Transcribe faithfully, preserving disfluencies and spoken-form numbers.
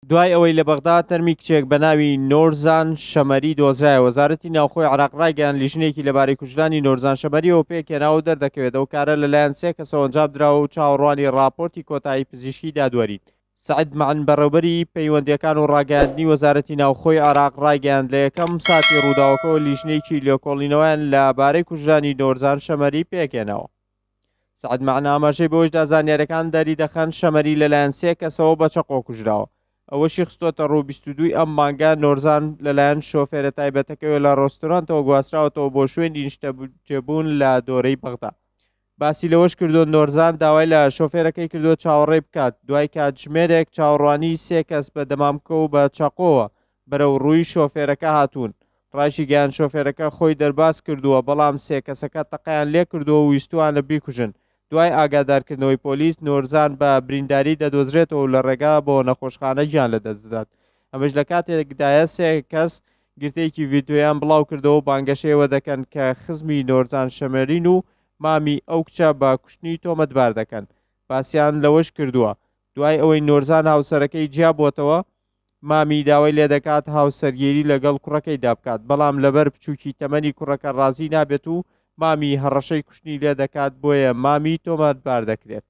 دوای ئەوەی لە بەغدا تەرمی کچێک بە ناوی نۆرزان شەمەری دۆزرایە، وەزارەتی ناوخۆی عێراق ڕایگەیاند لیژنەیەکی لەبارەی کوژرانی نۆرزان شەمەریەوە پێکهێناوە و دەردەکەوێت ئەو کارە لەلایەن سێ کەسەوە ئەنجام دراوە و چاوەڕوانی ڕاپۆرتی کۆتایی پزیشکی دادوەرین. سەعد مەعن بەڕێوبەری پەیوەندییەکان و ڕاگەیاندنی وەزارەتی ناوخۆی عێراق ڕایگەیاند لە یەکەم ساتی ڕووداوەکەوە لیژنەیەکی لێکۆڵینەوەیان لەبارەی کوژرانی نۆرزان شەمەری پێکهێناوە. سەعد مەعن ئاماژەی بەوەشدا زانیاریەکان دەریدەخەن شەمەری لەلایەن سێ کەسەوە بە چەقۆ کوژراوە. ئەوەشی خستۆتە ڕوو بیست و دوو ئەم مانگە نۆرزان لەلایەن شۆفێرە تایبەتەکەوە لە ڕێستۆرانتەوە گواستراوەتەوە بۆ شوێنی نیشتەجێبوون لە دۆرەی بەغدا. باسی لەوەش کردو نۆرزان داوای لە شۆفێرەکەی کردووە چاوەڕێ بکات، دوای کاتژمێرێک چاوەڕوانی سێ کەس بە دەمامکە و بە چەقۆوە بەرەو ڕووی شۆفێرەکە هاتوون. ڕایشیگەیاند شۆفێرەکە خۆی دەرباز کردووە، بەڵام سێ کەسەکە تەقەیان لێ کردووە و ویستوانە بیکوژن. دوای ئاگادارکردنەوەی پۆلیس نۆرزان بە برینداری دەدۆزرێتەوە و لە ڕێگا بۆ نەخۆشخانە گیان لەدەست دەدات. ئەمەش لە کاتێکدایە سێ کەس گرتەیەکی ڤیدیۆیان بڵاو کردەوە و بانگەشەیەوە دەکەن کە خزمی نۆرزان شەمەرین و مامی ئەو کچە بە کوشتنی تۆمەتبار دەکەن. باسیان لەوەش کردووە دوای ئەوەی نۆرزان هاوسەرەکەی جیابووەتەوە مامی داوای لێدەکات هاوسەرگیری لەگەڵ کوڕەکەیدا بکات، بەڵام لەبەر بچووکی تەمەنی کوڕەکە ڕازی نابێت و مامی هەڕەشەی کوشتنی لێدەکات، بۆیە مامی تۆمەتبار دەکرێت.